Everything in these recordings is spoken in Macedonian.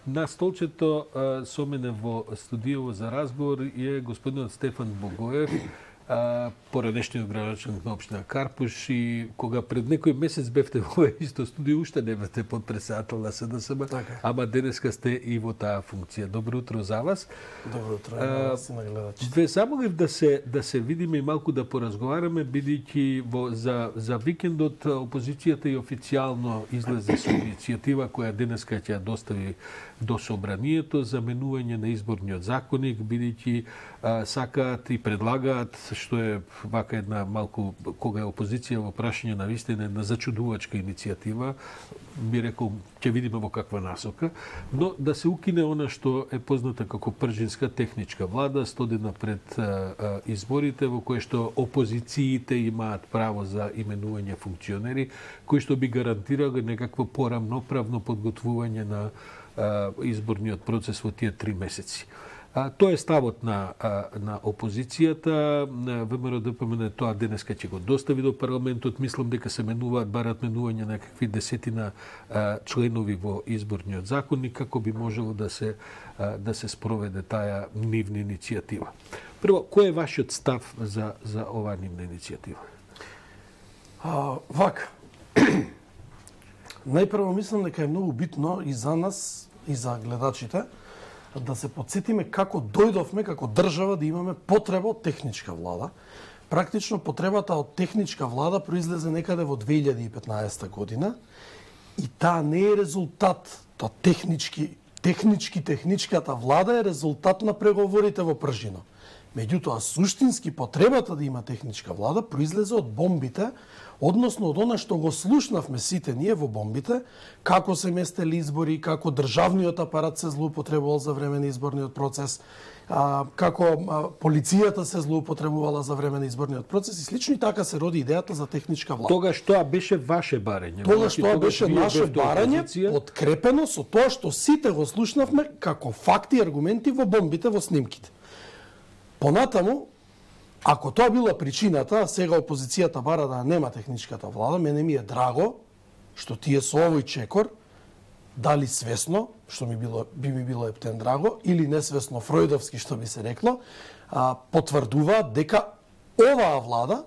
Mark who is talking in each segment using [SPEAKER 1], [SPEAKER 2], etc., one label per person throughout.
[SPEAKER 1] На столчето со мене во студијово за разговор е господинот Стефан Богоев, поранешниот градоначалник на општина Карпуш, и кога пред некој месец бевте во исто студио, уште не бевте подпредседател на СДСМ, ама денеска сте и во таа функција. Добро утро за вас.
[SPEAKER 2] Добро утро на вас и на гледачите.
[SPEAKER 1] Ве замолив да се видиме и малку да поразговараме, бидејќи за викендот опозицијата и официјално излезе со иницијатива која денеска ќе ја достави до собранието за менување на изборниот законник, бидејќи сакаат и предлагаат, што е вака една малку, кога е опозиција во прашање на вистина, една зачудувачка иницијатива, би рекол, ќе видиме во каква насока, но да се укине она што е позната како пржинска техничка влада, 100 дена пред изборите, во кој што опозициите имаат право за именување функционери, кои што би гарантирале некакво порамноправно подготвување на изборниот процес во тие 3 месеци. Тоа е ставот на опозицијата. ВМРО-ДПМН тоа денеска ќе го достави до парламентот. Мислам дека се барат менување на какви десетина членови во изборниот законник, како би можело да се спроведе таа нивна иницијатива. Прво, кој е вашиот став за оваа нивна иницијатива?
[SPEAKER 2] Вака. Најпрво мислам дека е многу битно и за нас, и за гледачите, да се подсетиме како дојдовме како држава да имаме потреба од техничка влада. Практично потребата од техничка влада произлезе некаде во 2015 година и таа не е резултат, техничката влада е резултат на преговорите во Пржино. Меѓутоа, суштински потребата да има техничка влада произлезе од бомбите, односно од она што го слушнавме сите ние во бомбите, како се местели избори, како државниот апарат се злоупотребувал за време на изборниот процес, како полицијата се злоупотребувала за време на изборниот процес и слично, и така се роди идејата за техничка влада.
[SPEAKER 1] Тогаш тоа беше ваше барање.
[SPEAKER 2] Тогаш тоа беше наше барање, подкрепено со тоа што сите го слушнавме како факти и аргументи во бомбите, во снимките. Понатаму, ако тоа била причината, сега опозицијата бара да нема техничката влада, мене ми е драго што тие со овој чекор, дали свесно, што би ми било ептен драго, или несвесно фројдовски, што би се рекло, потврдуваат дека оваа влада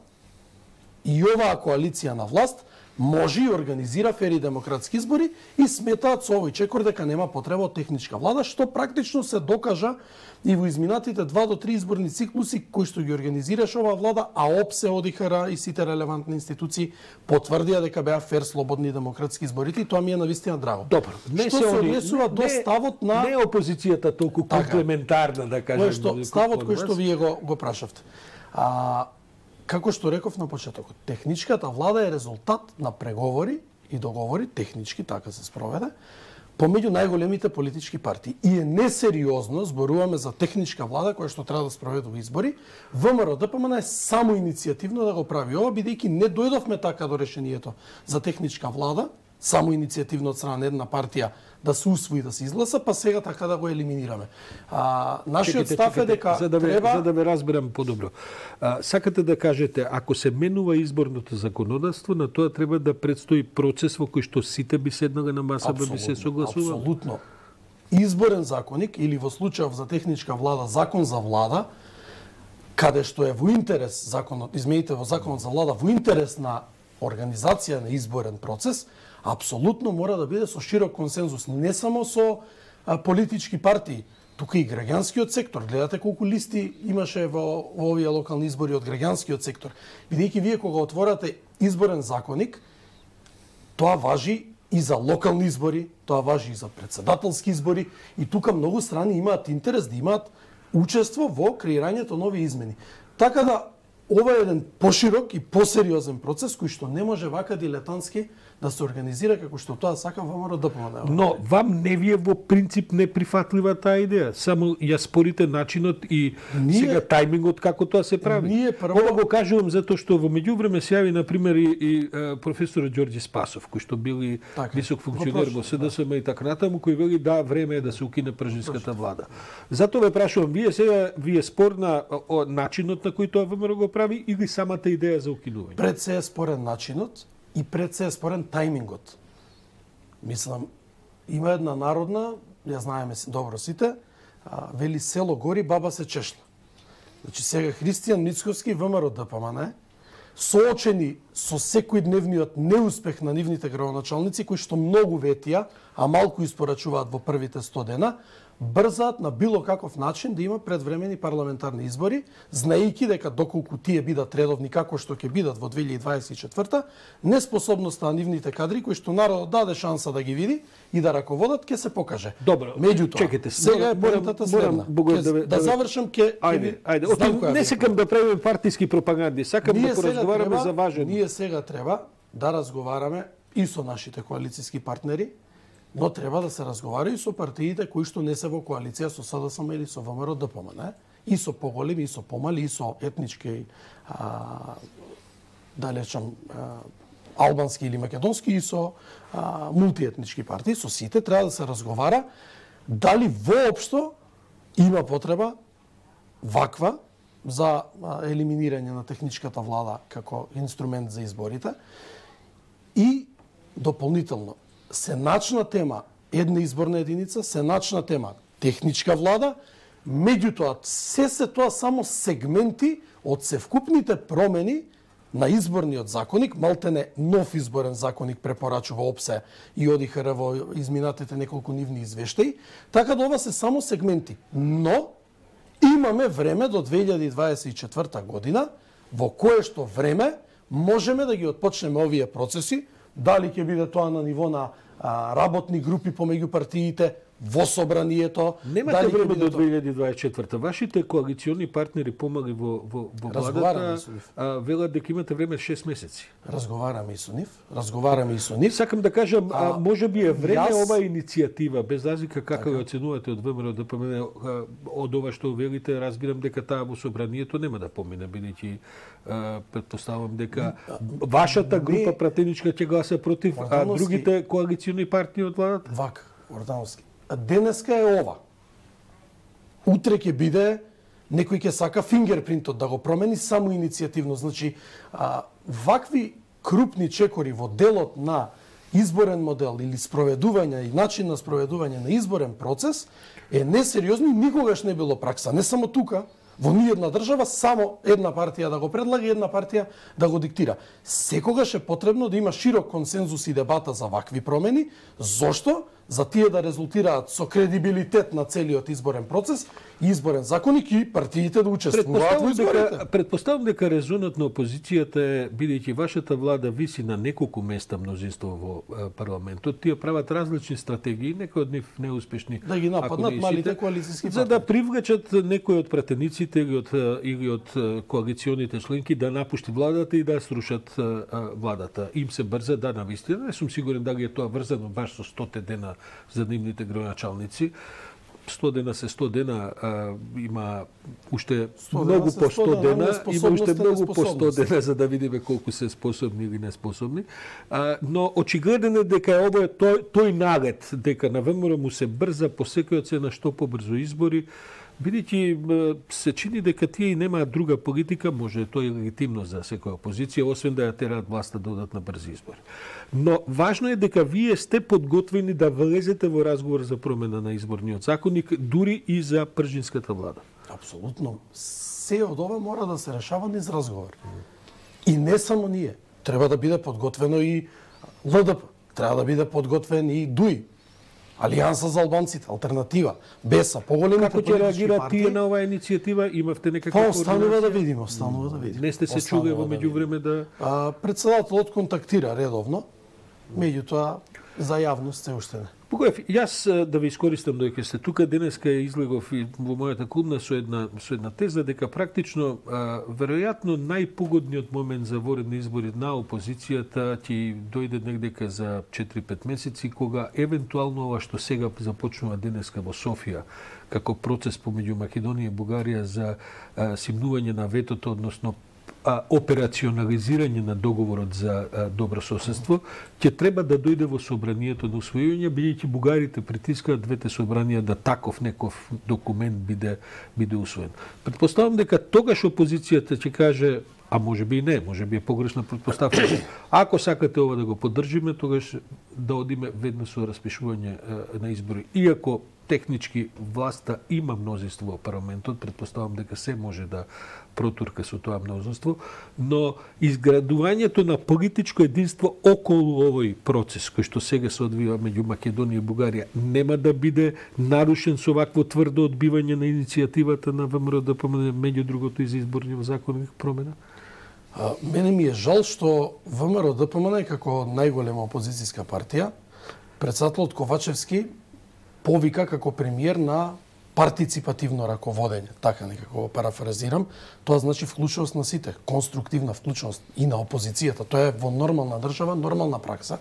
[SPEAKER 2] и оваа коалиција на власт може и организира фери демократски избори и сметаат со овој чекор дека нема потреба од техничка влада, што практично се докажа и во изминатите 2 до 3 изборни циклуси кои што ги организираше оваа влада, а ОПСЕ, ОДИХР и сите релевантни институции потврдија дека беа фер, слободни демократски изборите, и тоа ми е навистина драго.
[SPEAKER 1] Добро,
[SPEAKER 2] не се однесува до ставот на
[SPEAKER 1] не опозицијата толку комплементарна, да кажем,
[SPEAKER 2] ставот кој што вие го прашавте. Како што реков на почетокот, техничката влада е резултат на преговори и договори, технички така се спроведе, помеѓу најголемите политички партии. И е несериозно, зборуваме за техничка влада која што треба да спроведува избори, ВМРО-ДПМН е само иницијативно да го прави ова, бидејќи не дојдовме така до решението за техничка влада, само иницијативно од страна на една партија да се усвои, да се изгласа, па сега така да го елиминираме. Нашиот став е дека
[SPEAKER 1] за да ве разберам подобро. Сакате да кажете, ако се менува изборното законодавство, на тоа треба да предстои процес во кој што сите би седнале на маса, би се согласувале?
[SPEAKER 2] Апсолутно. Изборен законник, или во случајов за техничка влада, закон за влада, каде што е во интерес законот, измените во законот за влада, во интерес на организација на изборен процес, апсолутно мора да биде со широк консензус, не само со политички партии, тука и граѓанскиот сектор. Гледате колку листи имаше во овие локални избори од граѓанскиот сектор. Бидејќи вие кога отворате изборен законник, тоа важи и за локални избори, тоа важи и за претседателски избори, и тука многу страни имаат интерес да имаат учество во креирањето нови измени. Така да ова е еден поширок и посериозен процес кој што не може вака дилетантски да се организира како што тоа сака ВМРО-ДПМН.
[SPEAKER 1] Но вам не ви е во принцип неприфатлива таа идеја, само ја спорите начинот и сега тајмингот како тоа се прави. Ова го кажувам затоа што во меѓувреме се јави на пример и професорот Ѓорѓе Спасов, кој што бил и висок функционер во СДСМ и така натаму, кој вели да, време е да се укине пржинската влада. Затоа ве прашувам, вие спор на начинот на кој тоа ВМРО го прави или самата идеја за укинување?
[SPEAKER 2] Пред се е спорен начинот и пред се е спорен тајмингот. Мислам, има една народна ја знаеме добро сите, вели село гори, баба се чешна. Значи сега Христијан Мицковски, ВМРО ДПМН, соочени со секојдневниот неуспех на нивните градоначалници, кои што многу ветија, а малку испорачуваат во првите 100 дена, брзаат на било каков начин да има предвремени парламентарни избори, знаејќи дека доколку тие бидат редовни како што ќе бидат во 2024, неспособноста на нивните кадри кои што народот даде шанса да ги види и да раководат ќе се покаже.
[SPEAKER 1] Добро.
[SPEAKER 2] Меѓутоа,
[SPEAKER 1] чекайте,
[SPEAKER 2] сега морам да завршам
[SPEAKER 1] ајде. Не сакам да правиме партиски пропаганди, сакам да поразговараме за важен.
[SPEAKER 2] Ние сега треба да разговараме и со нашите коалициски партнери, но треба да се разговара и со партиите кои што не се во коалиција со СДСМ или со ВМРО ДПМН, и со поголеми, и со помали, и со етнички, да речам, албански или македонски, и со мултиетнички партии, со сите треба да се разговара дали воопшто има потреба ваква за елиминирање на техничката влада како инструмент за изборите и дополнително сеначна тема една изборна единица, сеначна тема техничка влада, меѓутоа се тоа само сегменти од севкупните промени на изборниот законник, малтене нов изборен законник препорачува ОПСЕ и ОДИХР во изминатите неколку нивни извештаи, така да ова се само сегменти. Но имаме време до 2024 година, во кое што време можеме да ги отпочнеме овие процеси, дали ќе биде тоа на ниво на работни групи помеѓу партиите, во собранието.
[SPEAKER 1] Немате време до 2024. Вашите коалициони партнери помали во владата, велат дека имате време 6 месеци.
[SPEAKER 2] Разговараме и со нив.
[SPEAKER 1] Сакам да кажам, може би е време ова иницијатива, без разлика како ја оценувате од ВМРО ДПМН, од ова што велите, разбирам дека таа во собранието нема да помине, бидејќи претпоставам дека вашата група пратеничка ќе гласа против, а другите коалициони партии од владата?
[SPEAKER 2] Вака, Ордановски. Денеска е ова. Утре ќе биде, некој ќе сака фингерпринтот да го промени само иницијативно. Значи, вакви крупни чекори во делот на изборен модел или спроведување и начин на спроведување на изборен процес е несериозно и никогаш не било пракса. Не само тука, во ниедна држава само една партија да го предлага и една партија да го диктира. Секогаш е потребно да има широк консензус и дебата за вакви промени. Зошто? За тие да резултираат со кредибилитет на целиот изборен процес и изборен законник и партиите да учествуваат во изборите.
[SPEAKER 1] Предпоставам дека резонот на опозицијата е, бидејќи вашата влада виси на неколку места мнозинство во парламентот, тие прават различни стратегии, некои од нив неуспешни.
[SPEAKER 2] Да ги нападнат малите коалициски партии.
[SPEAKER 1] За да привлечат некои од пратениците или од коалиционите членки да напушти владата и да срушат владата. Им се брза, да, навистина. Не сум сигурен дали е тоа врзано баш со 100 дена за нивните градоначалници. 100 дена се 100 дена, има уште многу по 100 дена, има уште многу по 100 дена за да видиме колку се способни или неспособни. Но очигледен е дека ова е тој нагет, дека на ВМРО му се брза по секоја цена што побрзо избори, бидејќи се чини дека тие и немаат друга политика, може тоа е легитимно за секоја опозиција, освен да ја тераат власта да одат на брзи избори. Но важно е дека вие сте подготвени да влезете во разговор за промена на изборниот законник, дури и за пржинската влада.
[SPEAKER 2] Апсолутно. Се од ова мора да се решава низ разговор. И не само ние. Треба да биде подготвено и ЛДП. Треба да биде подготвен и ДУИ. Алијанса за албанците, алтернатива, БЕСА, поголемите
[SPEAKER 1] политички партии. Како ќе реагираат тие на оваа иницијатива? Имавте некаква
[SPEAKER 2] координација? Останува да видиме,
[SPEAKER 1] Не сте се чуле во меѓувреме да...
[SPEAKER 2] Председателот контактира редовно, меѓутоа за јавност се уште не.
[SPEAKER 1] Богоев, јас да ви искористам додека сте тука, денеска излегов и во мојата клубна со една теза дека практично веројатно најпогодниот момент за воредни избори на опозицијата ќе дојде негдека за 4-5 месеци, кога евентуално ова што сега започнува денеска во Софија како процес помеѓу Македонија и Бугарија за симнување на ветото, односно операционализирање на договорот за добро соседство, ќе треба да дојде во собранието на усвојување, бидејќи бугарите притискаат двете собранија да таков неков документ биде усвоен. Претпоставам дека тогаш опозицијата ќе каже, а може би и не, може би е погрешна претпоставка, ако сакате ова да го поддржиме, тогаш да одиме веднаш со распишување на избори. Иако технички власта има мнозинство во парламентот, претпоставам дека се може да протурка со тоа мнозинство, но изградувањето на политичко единство околу овој процес кој што сега се одвива меѓу Македонија и Бугарија нема да биде нарушен со вакво тврдо одбивање на иницијативата на ВМРО ДПМН, меѓу другото и за изборни законови промена?
[SPEAKER 2] Мене ми е жал што ВМРО ДПМН како најголема опозицијска партија, председателот Ковачевски повика како премиер на партиципативно раководење, така некако парафразирам, тоа значи вклучуваност на сите, конструктивна вклучуваност и на опозицијата. Тоа е во нормална држава, нормална пракса.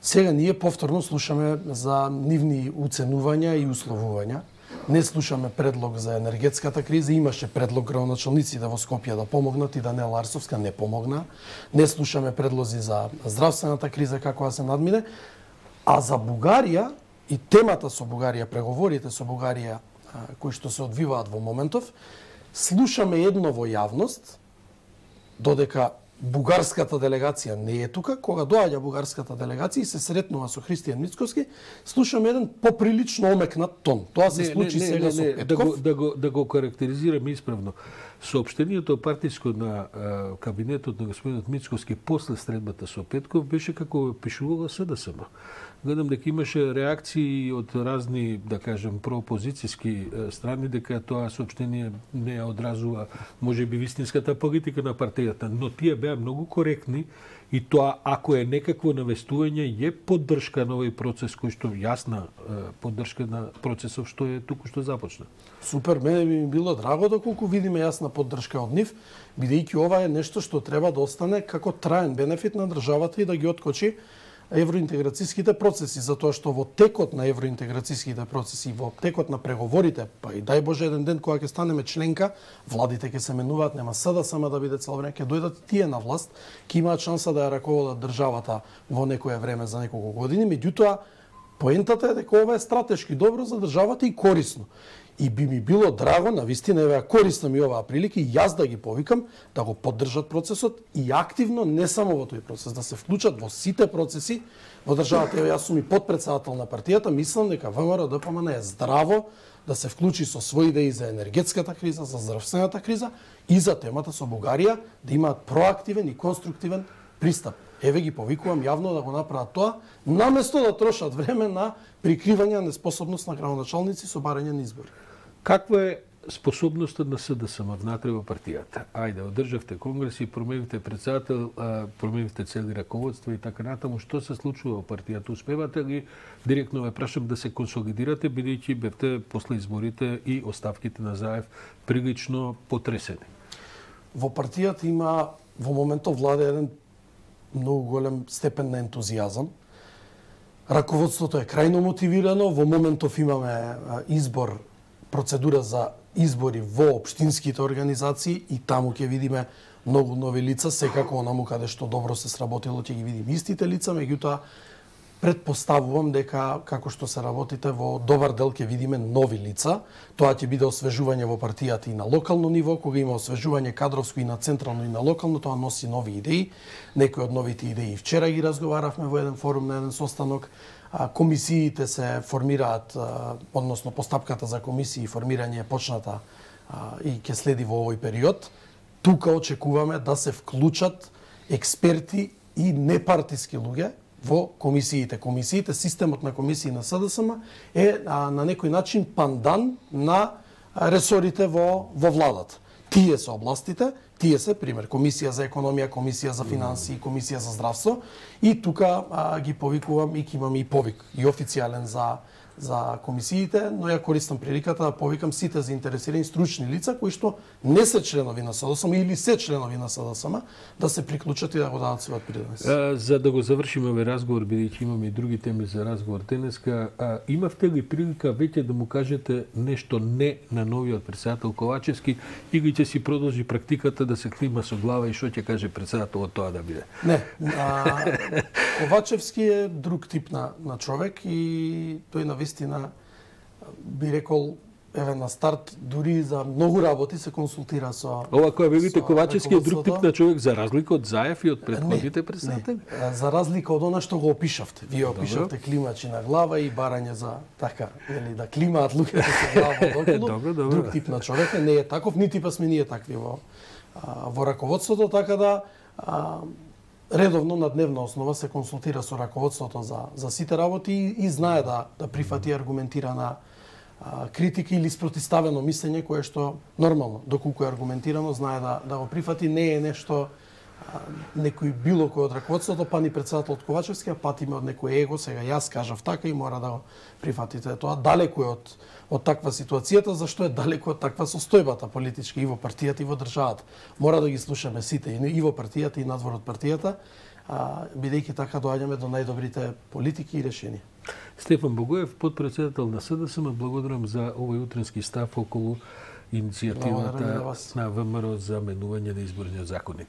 [SPEAKER 2] Сега ние повторно слушаме за нивни уценувања и условувања. Не слушаме предлог за енергетската криза, имаше предлог градоначалниците во Скопје да помогнат и Даниела Арсовска не помогна. Не слушаме предлози за здравствената криза како да се надмине, а за Бугарија и темата со Бугарија, преговорите со Бугарија кои што се одвиваат во моментов, слушаме едно во јавност, додека бугарската делегација не е тука, кога доаѓа бугарската делегација и се сретнува со Христијан Мицкоски, слушаме еден поприлично омекнат тон. Тоа се случи сега со Петков.
[SPEAKER 1] Да го карактеризираме исправно. Соопштението партиско на кабинетот на господинот Мицкоски после средбата со Петков беше како пишувала СДСМ. Гледам дека имаше реакции од разни, да кажем, проопозицијски страни дека тоа соопштение не ја одразува можеби вистинската политика на партијата, но тие беа многу коректни и тоа ако е некакво навестување е поддршка на овој процес кој што јасна поддршка на процесов што е туку што започна.
[SPEAKER 2] Супер, мене би ми било драго доколку видиме јасна поддршка од нив, бидејќи ова е нешто што треба да остане како траен бенефит на државата и да ги откочи евроинтеграцијските процеси, затоа што во текот на евроинтеграцијските процеси, во текот на преговорите, па и дај Боже еден ден кога ќе станеме членка, владите ќе се менуваат, нема СДСМ да биде цел време, ќе дојдат тие на власт, ќе имаат шанса да ја раководат државата во некое време за неколку години, меѓутоа поентата е дека ова е стратешки добро за државата и корисно. И би ми било драго, навистина еве користна ми оваа прилика и јас да ги повикам да го поддржат процесот и активно не само во тој процес, да се вклучат во сите процеси во државата. Еве јас сум и подпредседател на партијата, мислам дека ВМРО ДПМН е здраво да се вклучи со своји идеи за енергетската криза, за здравствената криза и за темата со Бугарија, да имаат проактивен и конструктивен пристап. Еве ги повикувам јавно да го направат тоа, наместо да трошат време на прикривање неспособност на градоначалници со барање на избори.
[SPEAKER 1] Каква е способноста на СДСМ внатре во партијата? Ајде, одржавте конгреси, променивте председател, променивте цели раководства и така натаму. Што се случува во партијата? Успевате ли, директно ве прашам, да се консолидирате, бидејќи бевте после изборите и оставките на Заев прилично потресени?
[SPEAKER 2] Во партијата има во моментов владе еден многу голем степен на ентузијазам. Раководството е крајно мотивирано, во моментов имаме избор, процедура за избори во општинските организации и таму ќе видиме многу нови лица, секако онаму каде што добро се сработило ќе ги видиме истите лица, меѓутоа претпоставувам дека како што се работите во добар дел ќе видиме нови лица. Тоа ќе биде освежување во партијата и на локално ниво, кога има освежување кадровско и на централно и на локално, тоа носи нови идеи. Некои од новите идеи вчера ги разговаравме во еден форум на еден состанок. Комисиите се формираат, односно постапката за комисии и формирање е почната и ќе следи во овој период. Тука очекуваме да се вклучат експерти и непартиски луѓе во комисиите. Комисиите, системот на комисии на СДСМ е на некој начин пандан на ресорите во владата. Тие се областите, тие се, пример, Комисија за економија, Комисија за финансии, Комисија за здравство и тука ги повикувам и ќе имаме и повик, и официјален за комисиите, но ја користам приликата да повикам сите заинтересирани стручни лица кои што не се членови на СДСМ или се членови на СДСМ да се приклучат и да го дадат својот принос.
[SPEAKER 1] За да го завршиме овој разговор, бидејќи имаме и други теми за разговор денеска, имавте ли прилика веќе да му кажете нешто не на новиот председател Ковачевски или ќе си продолжи практиката да се клима со глава и што ќе каже председателот тоа да биде?
[SPEAKER 2] Не. Ковачевски е друг тип на човек и тој навистина би рекол еве на старт дури за многу работи се консултира со
[SPEAKER 1] ова кој велите Ковачевски е друг тип на човек за разлика од Заев и од претходните председатели.
[SPEAKER 2] За разлика од она што го опишавте. Вие опишавте климачи на глава и барање за така, нели да климаат луѓето со глава околу.
[SPEAKER 1] Добро.
[SPEAKER 2] Друг тип на човек не е таков, нити па сме ние такви во раководството, така да редовно на дневна основа се консултира со раководството за сите работи и знае да прифати аргументирана критика или спротиставено мислење кое што нормално, доколку е аргументирано, знае да го прифати, не е нешто некој било кој од раководството, па ни председателот Ковачевски, а патиме од некој его, сега јас кажав така и мора да го прифатите. Тоа далеку е од таква ситуацијата, зашто е далеку од таква состојбата политичка и во партијата и во државата. Мора да ги слушаме сите и во партијата и надвор од партијата, бидејќи така доаѓаме до најдобрите политики и решенија.
[SPEAKER 1] Стефан Богоев, подпредседател на СДСМ, благодарам за овој утренски став околу иницијативата на ВМРО за менување на изборниот законник.